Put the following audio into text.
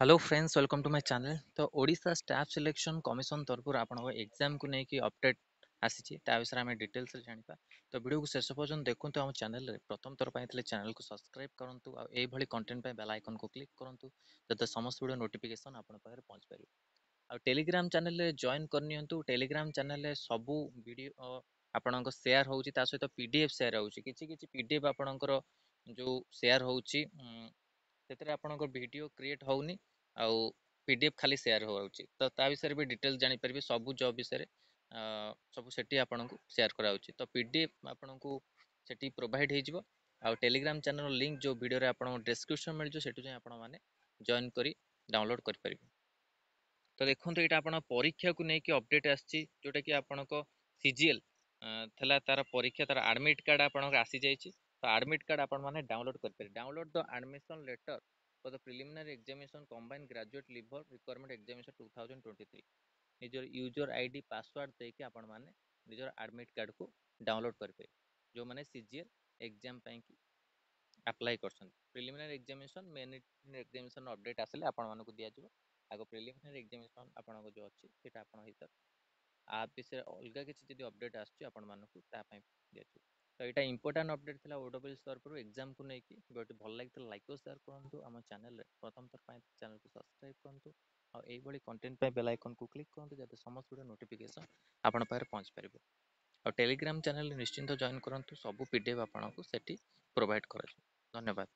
Hello friends, welcome to my channel. ତ Odisha staff selection commission ତରଫରୁ ଆପଣଙ୍କ ଏକ୍ଜାମକୁ ନେଇକି ଅପଡେଟ୍ ଆସିଛି, ତା ବିଷୟରେ ଆମେ ଡିଟେଲ୍ସରେ ଜାଣିବା। ତ ଭିଡ଼ିଓକୁ ଶେଷ ପର୍ଯ୍ୟନ୍ତ ଦେଖନ୍ତୁ। ଆମ ଚ୍ୟାନେଲରେ ପ୍ରଥମ ଥର ପାଇଁ ଥିଲେ ଚ୍ୟାନେଲକୁ ସବସ୍କ୍ରାଇବ୍ କରନ୍ତୁ ଆଉ ଏଇଭଳି କଣ୍ଟେଣ୍ଟ ପାଇଁ ବେଲ୍ ଆଇକନ୍କୁ କ୍ଲିକ୍ କରନ୍ତୁ, ଯାতে ସମସ୍ତ ଭିଡ଼ିଓ ନୋଟିଫିକେସନ୍ ଆପଣଙ୍କ ପାଖରେ ପହଞ୍ଚିପାରିବ। ଆଉ ଟେଲିଗ୍ରାମ ଚ୍ୟାନେଲରେ ଜଏନ୍ କରିନିଅନ୍ତୁ। ଟେଲିଗ୍ରାମ ଚ୍ୟାନେଲରେ ସବୁ ଭିଡ଼ିଓ ଆପଣଙ୍କ ସେୟାର ହେଉଛି, ତା ସହିତ PDF share ହେଉଛି। କିଛି କିଛି PDF ଆପଣଙ୍କର ଯେଉଁ ସେୟାର ହେଉଛି, ସେଥିରେ ଆପଣଙ୍କ ଭିଡ଼ିଓ କ୍ରିଏଟ୍ ହେଉନି ଆଉ PDF ଖାଲି ସେୟାର ହେଉଛି। ତ ତା ବିଷୟରେ ବି ଡିଟେଲ୍ସ ଜାଣିପାରିବେ। ସବୁ ଜବ୍ ବିଷୟରେ ସବୁ ସେଠି ଆପଣଙ୍କୁ ସେୟାର କରାଯାଉଛି। ତ PDF ଆପଣଙ୍କୁ ସେଠି ପ୍ରୋଭାଇଡ଼ ହେଇଯିବ। ଆଉ ଟେଲିଗ୍ରାମ ଚ୍ୟାନେଲର ଲିଙ୍କ୍ ଯେଉଁ ଭିଡ଼ିଓରେ ଆପଣଙ୍କୁ ଡେସ୍କ୍ରିପସନ୍ ମିଳିଯିବ, ସେଠୁ ଯାଇ ଆପଣମାନେ ଜଏନ୍ କରି ଡାଉନଲୋଡ଼ କରିପାରିବେ। ତ ଦେଖନ୍ତୁ, ଏଇଟା ଆପଣ ପରୀକ୍ଷାକୁ ନେଇକି ଅପଡେଟ୍ ଆସିଛି, ଯେଉଁଟାକି ଆପଣଙ୍କ CGL ଥିଲା ତାର ପରୀକ୍ଷା, ତାର ଆଡ଼ମିଟ୍ କାର୍ଡ଼ ଆପଣଙ୍କର ଆସିଯାଇଛି। ତ ଆଡ଼ମିଟ୍ କାର୍ଡ଼ ଆପଣମାନେ ଡାଉନଲୋଡ଼ କରିପାରିବେ। Download the admission letter for the preliminary examination combined graduate level recruitment examination 2023। ନିଜର ୟୁଜର ID, password ଦେଇକି ଆପଣମାନେ ନିଜର ଆଡ଼ମିଟ୍ କାର୍ଡ଼କୁ ଡାଉନଲୋଡ଼ କରିପାରିବେ, ଯେଉଁମାନେ CGL exam ପାଇଁକି ଆପ୍ଲାଏ କରିଛନ୍ତି। Preliminary examination, main examination update ଆସିଲେ ଆପଣମାନଙ୍କୁ ଦିଆଯିବ। ଆଗ ପ୍ରିଲିମିନାରୀ ଏକ୍ଜାମିନେସନ୍ ଆପଣଙ୍କ ଯେଉଁ ଅଛି, ସେଇଟା ଆପଣ ହେଇସାରୁ ଆ ବିଷୟରେ ଅଲଗା କିଛି ଯଦି ଅପଡେଟ୍ ଆସୁଛି, ଆପଣମାନଙ୍କୁ ତା ପାଇଁ ଦିଆଯିବ। ତ ଏଇଟା ଇମ୍ପୋର୍ଟାଣ୍ଟ ଅପଡେଟ୍ ଥିଲା OSSC ତରଫରୁ ଏକ୍ଜାମକୁ ନେଇକି। ଭିଡ଼ିଓଟି ଭଲ ଲାଗିଥିଲେ ଲାଇକ୍ ଓ ସେୟାର କରନ୍ତୁ। ଆମ ଚ୍ୟାନେଲରେ ପ୍ରଥମ ଥର ପାଇଁ ଚ୍ୟାନେଲକୁ ସବସ୍କ୍ରାଇବ୍ କରନ୍ତୁ ଆଉ ଏଇଭଳି କଣ୍ଟେଣ୍ଟ ପାଇଁ ବେଲ୍ ଆଇକନ୍କୁ କ୍ଲିକ୍ କରନ୍ତୁ, ଯାতে ସମସ୍ତ ଭିଡ଼ିଓ ନୋଟିଫିକେସନ୍ ଆପଣଙ୍କ ପାଖରେ ପହଞ୍ଚି ପାରିବ। ଆଉ ଟେଲିଗ୍ରାମ ଚ୍ୟାନେଲରେ ନିଶ୍ଚିନ୍ତ ଜଏନ୍ କରନ୍ତୁ। ସବୁ PDF ଆପଣଙ୍କୁ ସେଠି ପ୍ରୋଭାଇଡ଼ କରାଯିବ। ଧନ୍ୟବାଦ।